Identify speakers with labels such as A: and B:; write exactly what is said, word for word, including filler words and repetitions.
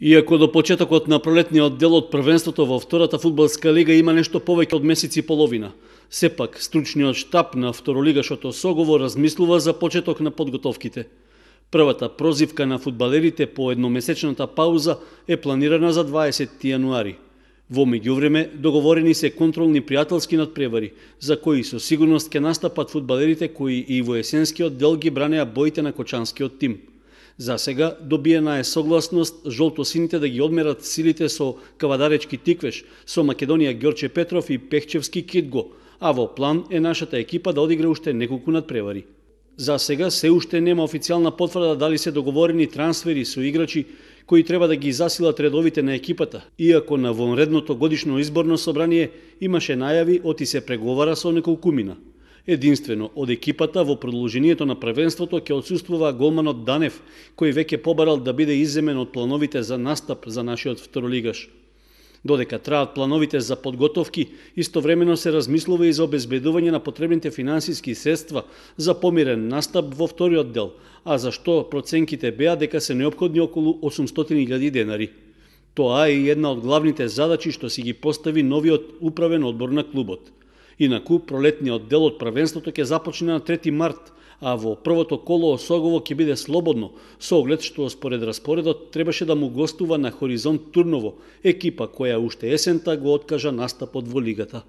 A: Иако до почетокот на пролетниот дел од првенството во втората фудбалска лига има нешто повеќе од месец и половина, сепак стручниот штаб на второлигашото Согово размислува за почеток на подготовките. Првата прозивка на фудбалерите по едномесечната пауза е планирана за дваесетти јануари. Во меѓувреме договорени се контролни пријателски надпревари, за кои со сигурност ќе настапат фудбалерите кои и во есенскиот дел ги бранеа боите на кочанскиот тим. За сега добиена е согласност жолтосините да ги одмерат силите со Кавадаречки Тиквеш, со Македонија Ѓорче Петров и Пехчевски Кидго, а во план е нашата екипа да одигра уште неколку надпревари. За сега се уште нема официјална потврда дали се договорени трансфери со играчи кои треба да ги засилат редовите на екипата, иако на вонредното годишно изборно собрание имаше најави оти се преговара со неколкумина. Единствено од екипата во продолжението на првенството ќе отсуствува голманот Данев, кој веќе побарал да биде изземен од плановите за настап за нашиот второлигаш. Додека траат плановите за подготовки, истовремено се размислува и за обезбедување на потребните финансиски средства за помирен настап во вториот дел, а за што проценките беа дека се неопходни околу осумстотини илјади денари. Тоа е една од главните задачи што си ги постави новиот управен одбор на клубот. Инаку, пролетниот дел од првенството ќе започне на трети март, а во првото коло Согово ќе биде слободно, со оглед што според распоредот требаше да му гостува на Хоризонт Турново, екипа која уште есента го откажа настапот во лигата.